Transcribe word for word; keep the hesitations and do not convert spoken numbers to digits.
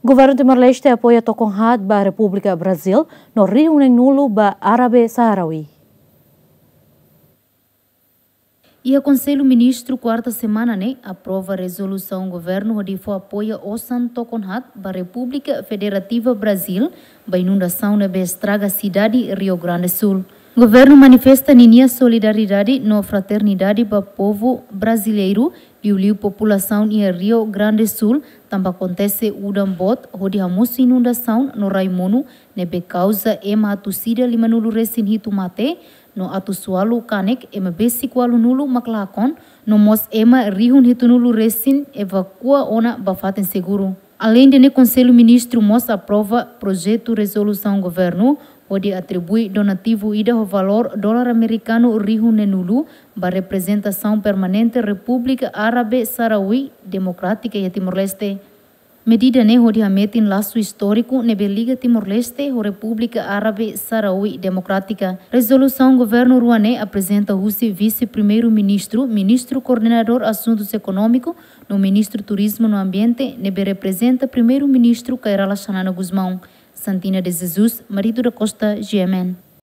Governu Timor-Leste apoia tokon haat ba Repúblika Brazil no rihun neen-nulu ba Árabe Sahrawi. Iha Konsellu Ministru kuarta semana ne'e aprova rezolusaun governu hodi fó apoia osan tokon haat ba Repúblika Federativa Brazil ba inundasaun ne'ebé estraga sidade Rio Grande Sul. Governu manifesta ninia solidariedade no fraternidade ba povu brasileiru, liuliu populasaun iha Rio Grande Sul, tanba akontese udan boot hodi hamosu inundasaun no rai monu ne'ebé kauza ema atus ida lima-nulu resin hitu mate, no atus ualu kanek ema besik ualu-nulu mak lakon, no mós ema rihun hitu-nulu resin evakua ona ba fatin seguru. Aleinde ne'e, Konsellu Ministru mós aprova projetu rezolusaun governu hodi atribui donativu ida ho valór dolar amerikanu rihun neen-nulu ba reprezentasaun permanente Repúblika Árabe Sahrawi Demokrátika iha Timor-Leste. Medida ne'e hodi hametin lasu istóriku ne'ebé liga Timor-Leste ho Repúblika Árabe Sahrawi Demokrátika. Rezolusaun governu rua ne'e aprezenta husi Vise-Primeiru-Ministru, Ministru Koordenadór Asuntus Ekonómiku, no Ministru Turizmu no Ambiente, ne'ebé reprezenta Primeiru-Ministru Kay Rala Xanana Gusmão. Santina de Jesus, Marito da Costa, G M N.